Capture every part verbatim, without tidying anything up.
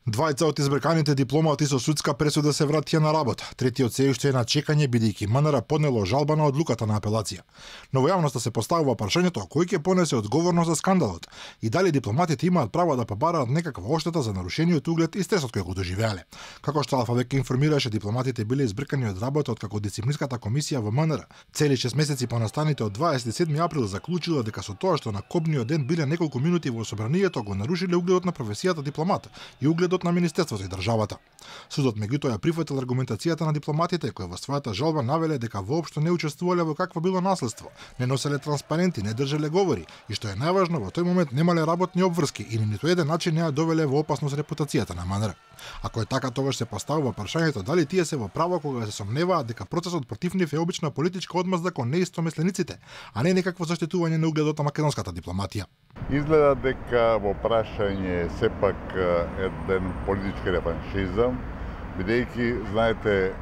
Двајца од избрканите дипломати со судска пресуда се вратија на работа. Третиот се уште е на чекање бидејќи МНР поднело жалба на одлуката на апелација. Но во јавноста се поставува прашањето кој ќе понесе одговорност за скандалот и дали дипломатите имаат право да побараат некаква оштета за нарушениот углед и стресот кој го доживеале. Како што Алфа веќе информираше, дипломатите биле избркани од работа откако дисциплинската комисија во МНР цели шест месеци по настаните од дваесет и седми април заклучила дека со тоа што на копниот ден биле неколку минути во собранието го нарушиле угледот на професијата дипломат и угледот на Министерството и државата. Судот меѓутоа ја прифатил аргументацијата на дипломатите кои во својата жалба навеле дека воопшто не учествувале во какво било наследство, не носеле транспаренти, не држеле говори и што е најважно во тој момент немале работни обврски и ни ниту еден начин не ја довеле во опасност репутацијата на МНР. Ако е така, тогаш се поставува прашањето дали тие се во право кога се сомневаат дека процесот против нив е обична политичка одмазда кон неистомислениците, а не некакво заштитување на угледот на македонската дипломатија. Изгледа дека во прашање сепак еден политички реваншизам, бидејќи, знаете,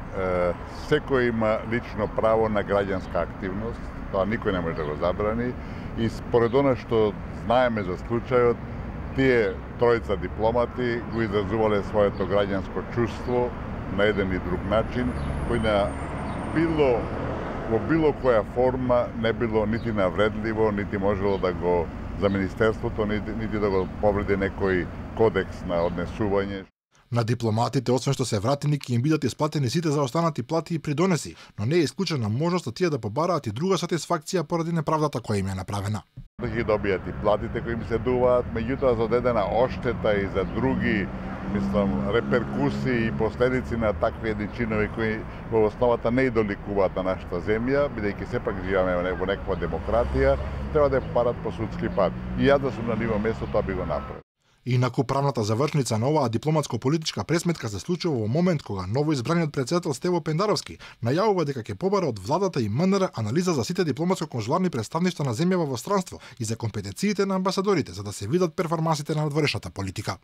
секој има лично право на граѓанска активност, тоа никој не може да го забрани, и според она што знаеме за случајот, тие тројца дипломати го изразувале своето граѓанско чувство на еден и друг начин, кој на било во било која форма не било нити навредливо, нити можело да го за Министерството, нити, нити да го повреди некој кодекс на однесување. На дипломатите, освен што се вратени, ќе им бидат исплатени сите за останати плати и придонеси, но не е исклучена можноста тие да побараат и друга сатисфакција поради неправдата која им е направена. Да ги добијат и платите кои им се дуваат, меѓутоа за одедена оштета и за други, мислам, реперкусии и последици на такви едни чинови кои во основата не идоликуваат на нашата земја, бидејќи сепак живееме во некаква демократија, треба да парат по судски пат. И јас да сум на ниво место, тоа би го направил. Инаку правната завршница на оваа дипломатско-политичка пресметка се случува во момент кога новоизбраниот претседател Стево Пендаровски најавува дека ќе побара од владата и МНР анализа за сите дипломатско-конзуларни представништва на земјава во странство и за компетенциите на амбасадорите за да се видат перформансите на надворешната политика.